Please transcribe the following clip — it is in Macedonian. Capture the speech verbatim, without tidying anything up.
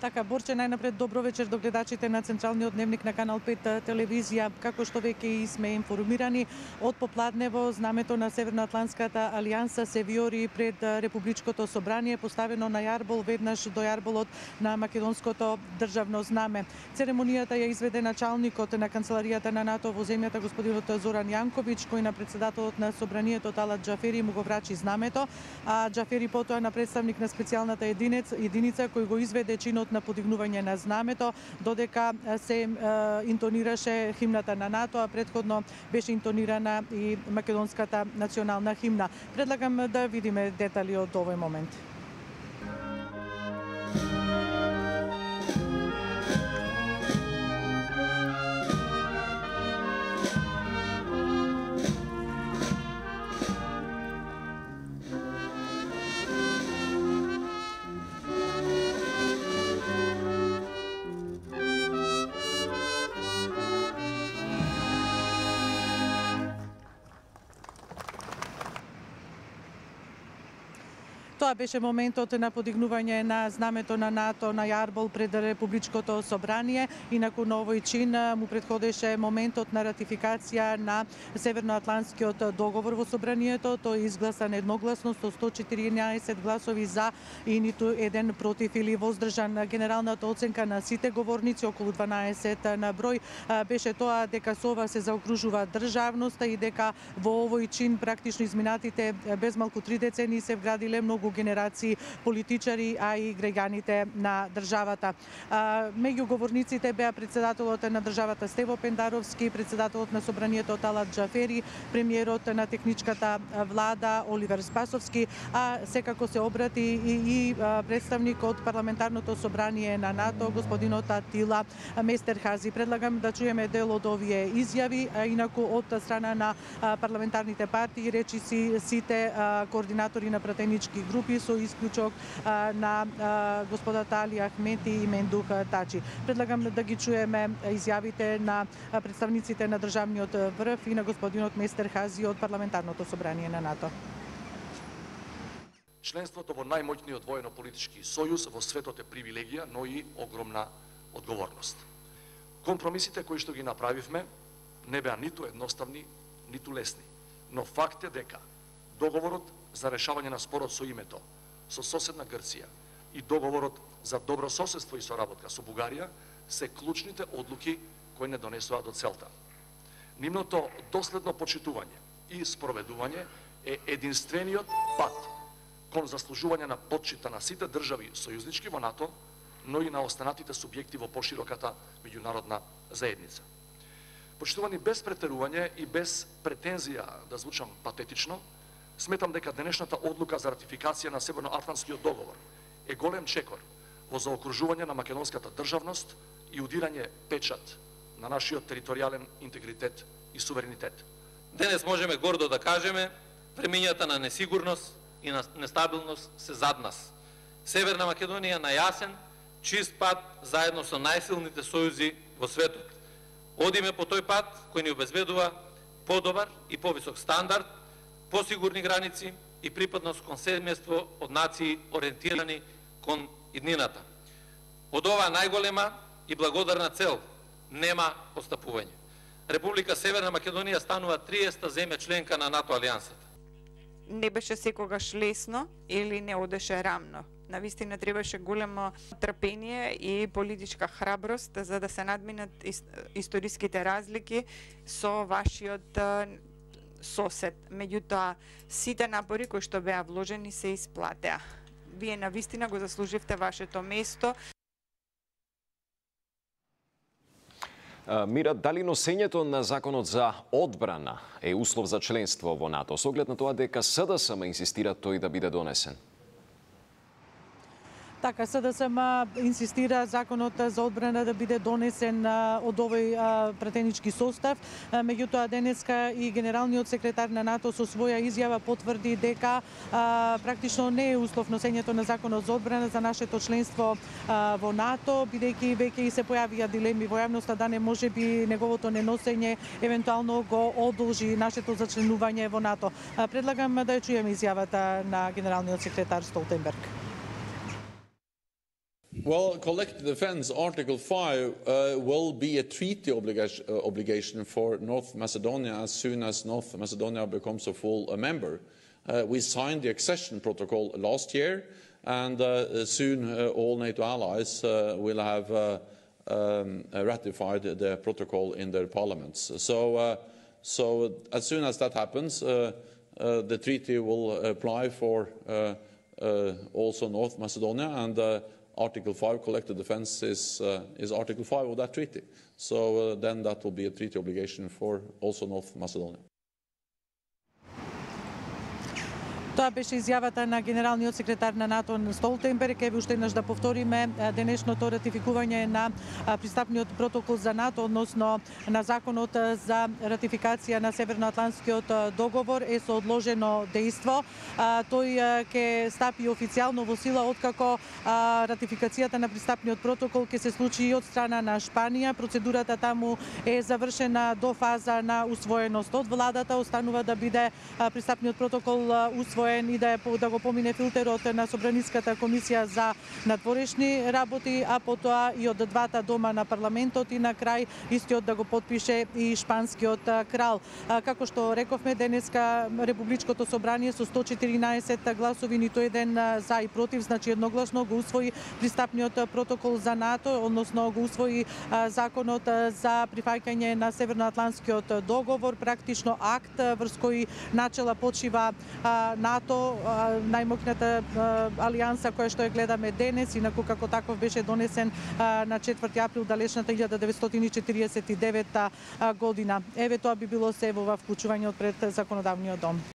Така, Борче, најнапред добро вечер до гледачите на Централниот дневник на Канал пет телевизија. Како што веќе сме информирани, од попладнево знамето на Северноатлантската алијанса се виори пред Републичкото собрание, поставено на јарбол веднаш до јарболот на македонското државно знаме. Церемонијата ја изведе началникот на канцеларијата на НАТО во земјата господинот Зоран Јанковиќ, кој на председателот на собранието Талат Џафери му го врачи знамето, а Џафери потоа на представник на специјалната единица кој го изведе чинот на подигнување на знамето, додека се е, интонираше химната на НАТО, а претходно беше интонирана и македонската национална химна. Предлагам да видиме детали од овој момент. Тоа беше моментот на подигнување на знамето на НАТО на јарбол пред Републичкото собрание. Инаку на овој чин му претходеше моментот на ратификација на Северноатлантскиот договор во собранието. Тој е изгласан едногласно со сто четиринаесет гласови за и ниту еден против или воздржан. Генералната оценка на сите говорници, околу дванаесет на број, беше тоа дека со ова се заокружува државноста и дека во овој чин практично изминатите без малку три децении се вградиле многу генерации политичари, а и граѓаните на државата. Меѓу говорниците беа председателот на државата Стево Пендаровски, председателот на собранието Талат Џафери, премиерот на техничката влада Оливер Спасовски, а секако се обрати и, и представник од парламентарното собрание на НАТО, господинот Атила Местерхази. Предлагам да чуеме дел од овие изјави, а инаку од страна на парламентарните партии, речиси сите координатори на пратенички групи со исклучок на господата Али Ахмети и Мендух Тачи. Предлагам да ги чуеме изјавите на представниците на државниот врв и на господинот Местерхази од парламентарното собрание на НАТО. Членството во најмоќниот воено-политички сојуз во светот е привилегија, но и огромна одговорност. Компромисите кои што ги направивме не беа ниту едноставни, ниту лесни, но факт е дека договорот за решавање на спорот со името со соседна Грција и договорот за добро соседство и соработка со Бугарија се клучните одлуки кои не донесува до целта. Нивното доследно почитување и спроведување е единствениот пат кон заслужување на почита на сите држави сојузнички во НАТО, но и на останатите субјекти во пошироката меѓународна заедница. Почитувани без претерување и без претензија да звучам патетично, сметам дека денешната одлука за ратификација на Северноатлантскиот договор е голем чекор во заокружување на македонската државност и удирање печат на нашиот територијален интегритет и суверенитет. Денес можеме гордо да кажеме, премињата на несигурност и на нестабилност се зад нас. Северна Македонија на јасен, чист пат заедно со најсилните сојузи во светот. Одиме по тој пат кој ни обезбедува подобар и повисок стандард, посигурни граници и припадност кон семејство од нации ориентирани кон иднината. Од оваа најголема и благодарна цел нема отстапување. Република Северна Македонија станува триесета земја членка на НАТО алијансата. Не беше секогаш лесно или не одеше рамно. Навистина требаше големо трпение и политичка храброст за да се надминат историските разлики со вашиот сосед. Меѓутоа, сите напори кои што беа вложени се исплатеа. Вие навистина го заслуживте вашето место. Мира, дали носењето на законот за одбрана е услов за членство во НАТО, со оглед на тоа дека СДСМ инсистира тој да биде донесен? Така, СДСМ инсистира законот за одбрана да биде донесен од овој пратенички состав. Меѓутоа, денеска и генералниот секретар на НАТО со своја изјава потврди дека практично не е услов носењето на законот за одбрана за нашето членство во НАТО, бидејќи веќе и се појавија дилеми во јавноста да не може би неговото неносење евентуално го одолжи нашето зачленување во НАТО. Предлагам да ја чуеме изјавата на генералниот секретар Столтенберг. Well, collective defence, Article five, uh, will be a treaty obligation, uh, obligation for North Macedonia as soon as North Macedonia becomes a full uh, member. Uh, we signed the accession protocol last year, and uh, soon uh, all NATO allies uh, will have uh, um, ratified the protocol in their parliaments. So, uh, so as soon as that happens, uh, uh, the treaty will apply for uh, uh, also North Macedonia, and uh, Article five, collective defence, is, uh, is Article five of that treaty. So uh, then that will be a treaty obligation for also North Macedonia. Тоа беше изјавата на генералниот секретар на НАТО Столтенберг. Еве уште еднаш да повториме, денешното ратификување на пристапниот протокол за НАТО, односно на законот за ратификација на Северноатлантскиот договор е со одложено дејство. Тој ќе стапи официјално во сила откако ратификацијата на пристапниот протокол ќе се случи и од страна на Шпанија. Процедурата таму е завршена до фаза на усвоеност од владата. Останува да биде пристапниот протокол усвоен и да, да го помине филтерот на Собраниската комисија за надворешни работи, а потоа и од двата дома на парламентот и на крај истиот да го потпише и шпанскиот крал. Како што рековме, денеска Републичкото собрание со сто четиринаесет гласови, ниту еден за и против, значи едногласно го усвои пристапниот протокол за НАТО, односно го усвои законот за прифаќање на Северноатлантскиот договор, практично акт врз кој начела почива НАТО, најмокната алијанса која што ја гледаме денес, инаку како таков беше донесен на четврти април далечната илјада деветстотини и четиридесет и девета година. Еве тоа би било се во вклучување од пред законодавниот дом.